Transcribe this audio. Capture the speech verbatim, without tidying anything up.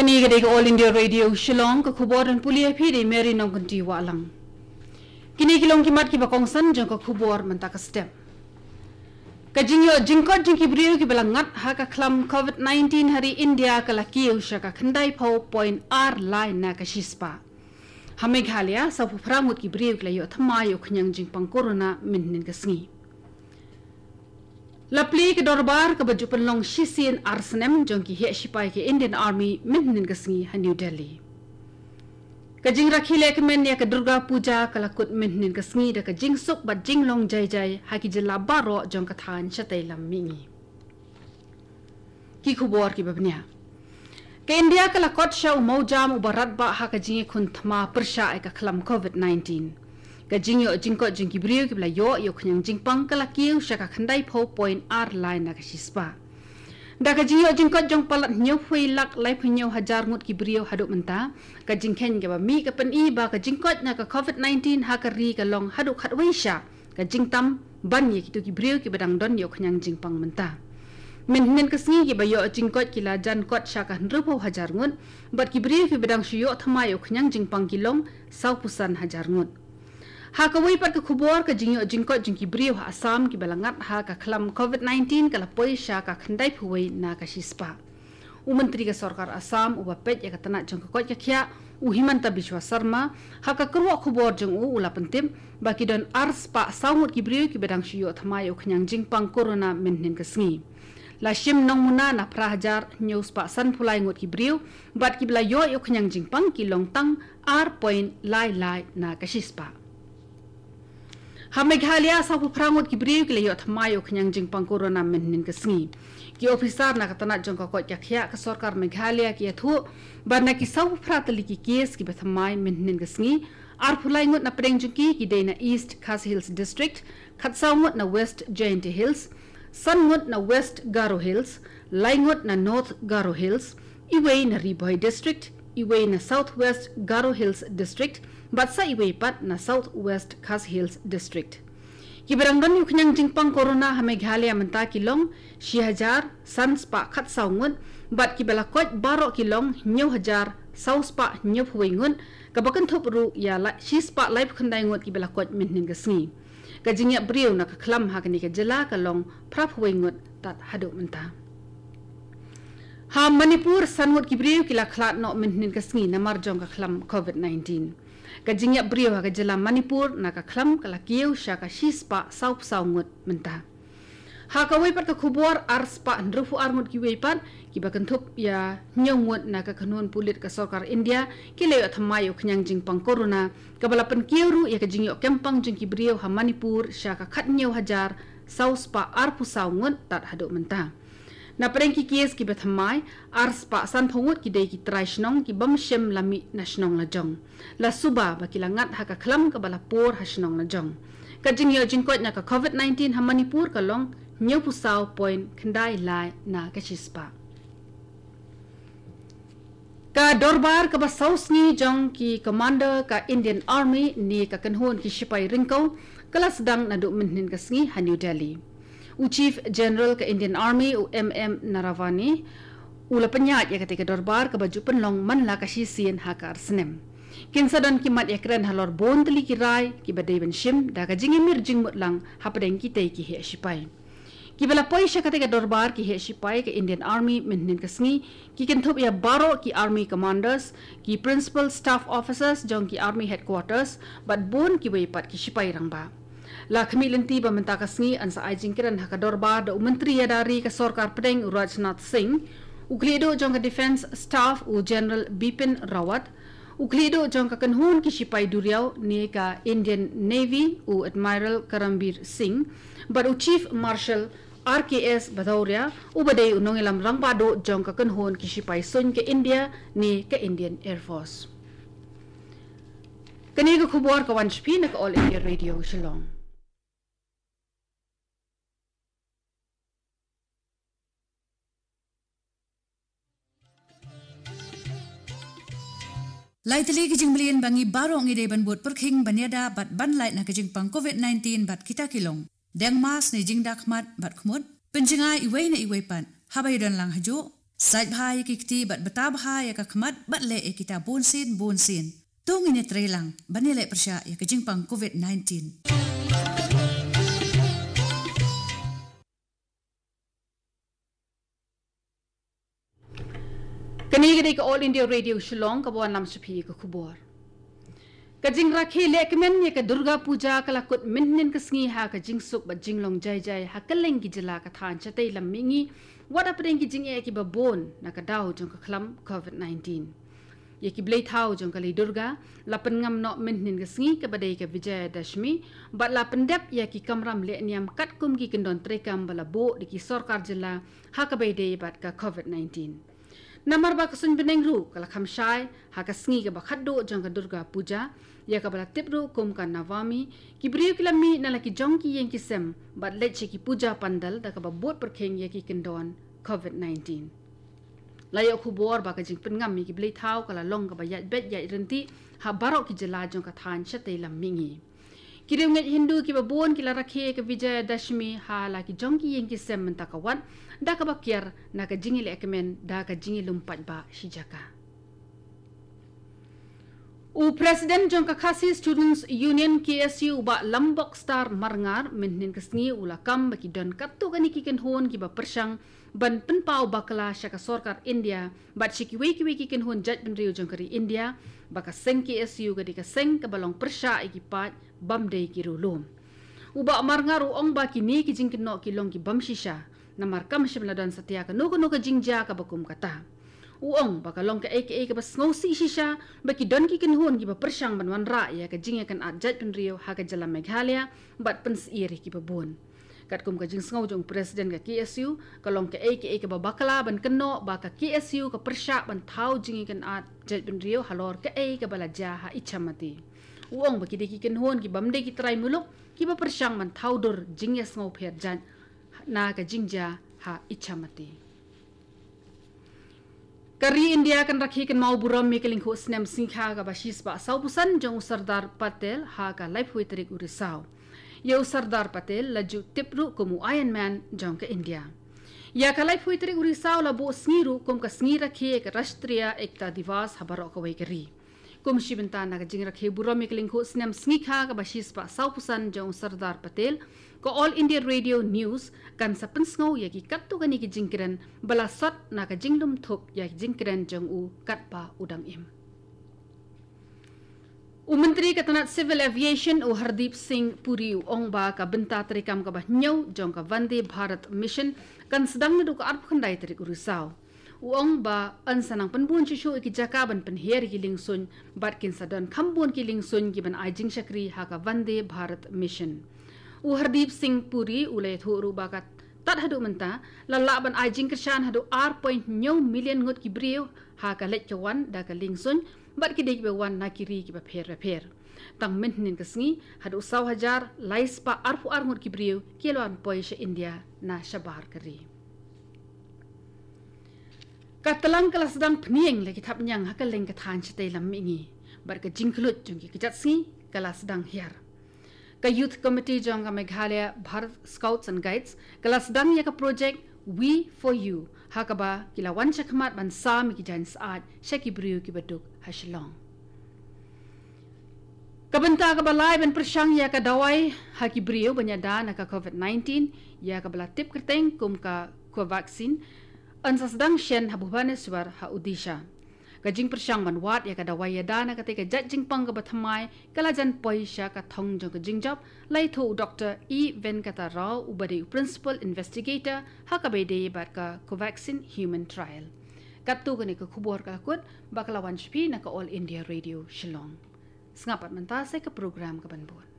Kane ka dei ka All India Radio Shillong, ka khubor ban pule ïa phi da i Mary Nongkynrih Wahlang. Kine ki long ki mat kiba kongsan jong ka khubor mynta ka step. Ka jingïoh jingkoit jong ki briew kiba la ngat ha ka khlam covid nineteen ha ri India ka la kiew sha ka khyndai phew point ar lai na ka shispah. Ha Meghalaya, sawphew phra ngut ki briew ki la ïoh thymmai ïa u khñiang jingpang corona mynhynnin ka sngi. La plie ka dorbar kaba ju pynlong shisien ar snem jong ki heh shipai ka Indian Army mynhynnin ka sngi ha New Delhi. Ka jingrakhe lehkmen ïa ka Durga Puja ka la kut mynhynnin ka sngi da ka jingsuk bad jinglong jai jai ha ki jylla baroh jong ka thaiñ shatei lam mihngi. Ki khubor kiba bniah. Ka India ka la kot sha u mawjam uba radbah ha ka jingïakhun thma pyrshah ïa ka khlam covid nineteen. Ka jingïoh jingkoit jong ki briew kiba la ïoh ïa u khñiang jingpang ka la kiew sha ka khyndai phew point ar lai na ka shispah. Da ka jingïoh jingkoit jong palat hynñiew phew lak laiphew hynñiew hajar ngut ki briew haduh mynta, ka jingkheiñ kaba mih ka pyni ba ka jingkoit na ka covid nineteen ha ka ri ka long haduh khatwei sha ka jingtam ban ïa kito ki briew kiba dang don ïa u khñiang jingpang mynta. Mynhynnin ka sngi kiba ïoh jingkoit ki la jan kot sha ka hynriewphew hajar ngut, bad ki briew kiba dang shu ïoh thymmai ïa u khñiang jingpang ki long sawphew san hajar ngut. Ha kawei pat ka khubor, ka jingïoh jingkoit jong ki briew ha Assam kiba la ngat ha ka khlam covid nineteen ka la poi sha ka khyndai phew wei na ka shispah. U Myntri ka Sorkar Assam uba peit ïa ka tnat jong ka koit ka khiah, u Himanta Biswa Sarma, ha ka kyrwoh khubor jong u u la pyntip ba ki don ar spah saw ngut ki briew kiba dang shu ïoh thymmai ïa u khñiang jingpang corona mynhynnin ka sngi. La shim nongmuna na phra hajar hynñiew spah sanphew lai ngut ki briew, bad kiba la ïoh ïa u khñiang jingpang ki long tang ar point lai lai na ka shispah. Ha Meghalaya, sawphew phra ngut ki briew ki la ïoh thymmai ïa u khñiang jingpang corona mynhynnin ka sngi. Ki ophisar na ka tnat jong ka koit ka khiah ka Sorkar Meghalaya ki ïathuh ba na ki sawphew phra tylli ki case kiba thymmai mynhynnin ka sngi, arphew lai ngut na pdeng jong ki ki dei na East Khasi Hills District, khatsaw ngut na West Jaintia Hills, san ngut na West Garo Hills, lai ngut na North Garo Hills, iwei na Ri Bhoi District, iwei na South West Garo Hills District, bad sa iwei pat na South West Khasi Hills District. Kiba dang don ïa u khñiang jingpang corona ha Meghalaya mynta ki long shi hajar san spah khatsaw ngut, bad kiba la koit baroh ki long hynñiew hajar saw spah hynñiewphew wei ngut, kaba kynthup ruh ïa la shi spah laiphew khyndai ngut kiba la koit mynhynnin ka sngi. Ka jingïap briew na ka khlam ha kane ka jylla ka long phraphew wei ngut tad haduh mynta. Ha Manipur, san ngut ki briew ki la khlad noh mynhynnin ka sngi namar jong ka khlam covid nineteen. Ka jingïap briew ha ka jylla Manipur na ka khlam ka la kiew sha ka shi spah sawphew saw ngut mynta. Ha kawei pat ka khubor, ar spah hynriewphew ar ngut kiwei pat, kiba kynthup ïa hynñiew ngut na ka kynhun pulit ka Sorkar India ki la ïoh thymmai ïa u khñiang jingpang corona, kaba la pynkiew ruh ïa ka jingïoh kempang jong ki briew ha Manipur sha ka khathynñiew hajar saw spah arphew saw ngut tad haduh mynta. Na pdeng ki case kiba thymmai, ar spah sanphew ngut ki dei ki trai shnong ki bym shym la mih na shnong la jong. La suba ba ki la ngat ha ka khlam kaba la pur ha shnong la jong. Ka jingïoh jingkoit na ka covid nineteen ha Manipur ka long hynñiewphew saw point khyndai lai na ka shi spah. Ka dorbar kaba saw sngi jong ki commander ka Indian Army ne ka kynhun ki shipai ryngkew ka la sdang naduh mynhynnin ka sngi ha New Delhi. U Chief General ka Indian Army, u M M Naravane, u la pynïaid ïa katei ka dorbar kaba ju pynlong man la ka shisien ha ka ar snem. Kin sa don ki mat ïakren halor bun tylli ki rai kiba dei ban shim da ka jingïamir jingmut lang hapdeng kitei ki heh shipai. Kiba la poi sha katei ka dorbar ki heh shipai ka Indian Army mynhynnin ka sngi ki kynthup ïa baroh ki army commanders, ki principal staff officers jong ki army headquarters, bad bun kiwei pat ki shipai rangbah. La khmih lynti ba mynta ka sngi yn sa ai jingkren ha ka dorbar da u Myntri ïada ri ka Sorkar Pdeng u Rajnath Singh, u khlieh duh jong ka Defence Staff u General Bipin Rawat, u khlieh duh jong ka kynhun ki shipai duriaw ne ka Indian Navy u Admiral Karambir Singh, bad u Chief Marshal R K S Bhadauria, uba dei u nongïalam rangbah duh jong ka kynhun ki shipai suiñ ka India ne ka Indian Air Force. Kane ka khubor ka wan sha phi na ka All India Radio Shillong. Lai tylli ki jingmlien ba ngi baroh ngi dei ban bud pyrkhing ban ïada bad ban lait na ka jingpang covid nineteen bad kita ki long: deng mask ne jingda khmat bad khmut, pynjngai iwei na iwei pat, haba ïadon lang hajuh, Sait bha ïa ki kti bad bta bha ïa ka khmat bad leh ïa kita bunsien bunsien. To ngin ïa trei lang ban ïaleh pyrshah ïa ka jingpang covid nineteen. Kane ka dei ka All India Radio Shillong kaba wanlam sha phi ïa ka khubor. Ka jingrakhe lehkmen ïa ka Durga Puja ka la kut mynhynnin ka sngi ha ka jingsuk bad jinglong jai jai ha kylleng ki jylla ka thaiñ shatei lam mihngi, wat hapdeng ki jingeh kiba bun na ka daw jong ka khlam covid nineteen. Ïa ki blei thaw jong ka lei Durga la pynngam noh mynhynnin ka sngi kaba dei ka Vijayadashmi, bad la pyndep ïa ki kamram lehniam katkum ki kyndon treikam ba la buh da ki sorkar jylla ha kaba ïadei bad ka covid nineteen. Namar ba ka suiñ bneng ruh ka la kham shai ha ka sngi kaba khatduh jong ka Durga Puja, ïa kaba la tip ruh kum ka Navami, ki briew ki la mih na la ki jong ki ïing ki sem bad leit sha ki puja pandal da kaba bud pyrkhing ïa ki kyndon covid nineteen. La ïoh khubor ba ka jingpynngam ïa ki blei thaw ka la long kaba ïaid beit ïaid ryntih ha baroh ki jylla jong ka thaiñ shatei lam mihngi. Ki riewngeit Hindu kiba bun ki la rakhe ïa ka Vijayadashmi ha la ki jong ki ïing ki sem mynta ka wat, da kaba kiar na ka jingïalehkmen da ka jingïalum paidbah shi jaka. U President jong ka Khasi Students Union, K S U, u Bah Lambokstar Marngar, mynhynnin ka sngi u la kam ba ki don katto katne ki kynhun kiba pyrshang ban pynpaw bakla sha ka sorkar India bad sha kiwei kiwei ki kynhun jaitbynriew jong ka ri India, ba ka seng K S U ka dei ka seng kaba long pyrshah ïa ki paid bym dei ki riewlum. U Bah Marngar u ong ba kine ki jingkynnoh ki long ki bym shisha, namar kam shym la don satia kano kano ka jingjia kaba kum kata. U ong ba ka long kaei kaei kaba sngewsih shisha ba ki don ki kynhun kiba pyrshang ban wanrah ïa ka jingïakynad jaitbynriew ha ka jylla Meghalaya bad pynsyier ïa kiba bun. Katkum ka jingsngew jong u President ka K S U, ka long kaei kaei kaba bakla ban kynnoh ba ka K S U ka pyrshah ban thaw jingïakynad jaitbynriew halor kaei kaba la jia ha Ichamati. U ong ba ki dei ki kynhun ki bym dei ki trai muluk kiba pyrshang ban thaw dur jingïasngewpher jait na ka jingjia ha Ichamati. Ka ri India kan rakhe kynmaw burom ïa ka lyngkhuh snem sngikha kaba shispah sawphew san jong u Sardar Patel ha ka laiphew tarik u Risaw. Ïa u Sardar Patel la ju tip ruh kum u Iron Man jong ka India. Ïa ka laiphew tarik u Risaw la buh sngi ruh kum ka sngi rakhe ïa ka Rashtriya Ekta Diwas ha baroh kawei ka ri. Kum shi bynta na ka jingrakhe burom ïa ka lyngkhuh snem sngikha kaba shispah sawphew san jong u Sardar Patel, ka All India Radio News kan sa pynsngew ïa ki katto katne ki jingkren ba la sot na ka jinglum thup ïa ki jingkren jong u katba u dang im. U Myntri ka tnat Civil Aviation u Hardeep Singh Puri u ong ba ka bynta treikam kaba hynñiew jong ka Vande Bharat Mission kan sdang naduh ka arphew khyndai tarik u Risaw. U ong ba yn sa nang pynbun shuh shuh ïa ki jaka ban pynhiar ïa ki liengsuiñ bad kin sa don kham bun ki liengsuiñ kiban ai jingshakri ha ka Vande Bharat Mission. U Hardeep Singh Puri u la ïathuh ruh ba ka tad haduh mynta la lah ban ai jingkyrshan haduh ar point hynñiew million ngut ki briew ha ka leit ka wan da ka liengsuiñ bad ki dei kiba wan na ki ri kiba pher bapher. Tang mynhynnin ka sngi haduh saw hajar lai spah arphew ar ngut ki briew ki la wan poi sha India na shabar ka ri. Ka tlang ka la sdang pynïeng la ki thapniang ha kylleng ka thaiñ shatei lam mihngi bad ka jingkhluit jong ki kjat sngi ka la sdang hiar. Ka Youth Committee jong ka Meghalaya Bharat Scouts and Guides ka la sdang ïa ka projek We for You, ha kaba ki la wan shakhmat ban sam ïa ki jaiñ syaid sha ki briew kiba duk ha Shillong. Ka bynta kaba lai ban pyrshang ïa ka dawai ha ki briew ban ïada na ka covid nineteen, ïa kaba la tip kyrteng kum ka Covaxin, yn sa sdang shen ha Bhubaneswar ha Odisha. Ka jingpyrshang ban wad ïa ka dawai ïada na katei ka jait jingpang kaba thymmai ka la jan poi sha ka thong jong ka jingjop, la ïathuh u Doktor E Venkata Rao uba dei u Principal Investigator ha kaba ïadei bad ka Covaxin Human Trial. Katto kane ka khubor ka la kut ba ka la wan sha phi na ka All India Radio Shillong. Sngap pat mynta sa ka program kaban bud.